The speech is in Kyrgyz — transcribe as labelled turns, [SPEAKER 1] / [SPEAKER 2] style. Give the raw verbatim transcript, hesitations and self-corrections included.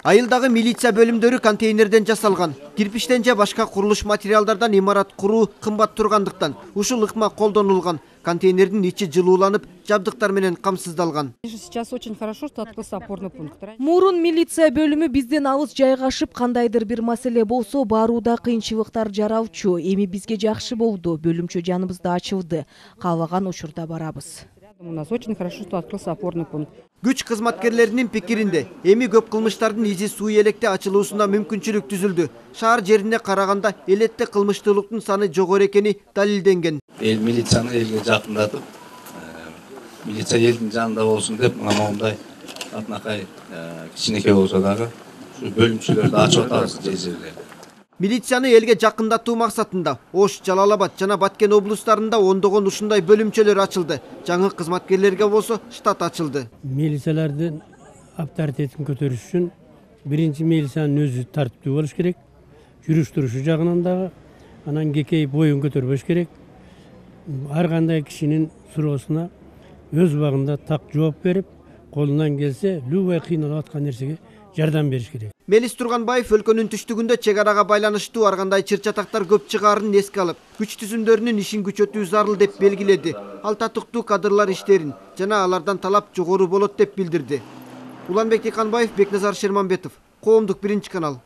[SPEAKER 1] Айылдагы милиция бөлүмдөрү контейнерден жасалган. Кирпиштен же башка курулуш материалдардан имарат куруу кымбат тургандыктан ушул ыкма колдонулган. Контейнердин ичи жылууланып, жабдыктар менен камсыздалган.
[SPEAKER 2] Сейчас очень хорошо, что открылся опорный пункт.
[SPEAKER 3] Мурун милиция бөлүмү бизден алыс жайгашып, кандайдыр бир маселе болсо барууда кыйынчылыктар жаралчу. Эми бизге жакшы болду. Бөлүмчө жаныбызда ачылды. Калбаган учурда барабыз.
[SPEAKER 2] У нас очень хорошо, что открылся опорный пункт.
[SPEAKER 1] Күч кызматкерлеринин пикиринде, эми көп кылмыштардын изи суу электе ачылуусуна мүмкүнчүлүк түзүлдү. Шаар жерине караганда элетте кылмыштуулуктун саны жогору экени далилденген.
[SPEAKER 4] Эл милицияны элге жакындатып, милиция элдин жанында болсун деп, мындай атнакай кичинекей болсо дагы бөлүмчөлөрдү ачып атабыз кээ жерде.
[SPEAKER 1] Милицияны элге жакындатуу максатында Ош, Жалал Абад жана Баткен облустарында ондогон ушундай бөлүмчөлөр ачылды. Жаңы кызматкерлерге болсо штат ачылды.
[SPEAKER 5] Милициялардын авторитетин көтөрүш үчүн биринчи милициянын өзү тартиптүү болуш керек, жүрүш турушу жагынан дагы, анан кекей боюн көтөрбөш керек. Ар кандай кишинин суроосуна өз убагында так жооп берип, колунан келсе любой кыйналып аткан нерсеге жардам бериш керек.
[SPEAKER 1] Мелис Турганбаев өлкөнүн түштүгүндө чек арага байланыштуу ар кандай чыр-чатактар көп чыгаарын эске алып, күч түзүмдөрүнүн ишин күчөтүү зарыл деп белгиледи. Ал татыктуу кадрлар иштерин жана алардан талап жогору болот деп билдирди. Уланбек Тиканбаев, Бекназар Шерманбетов, Коомдук биринчи канал.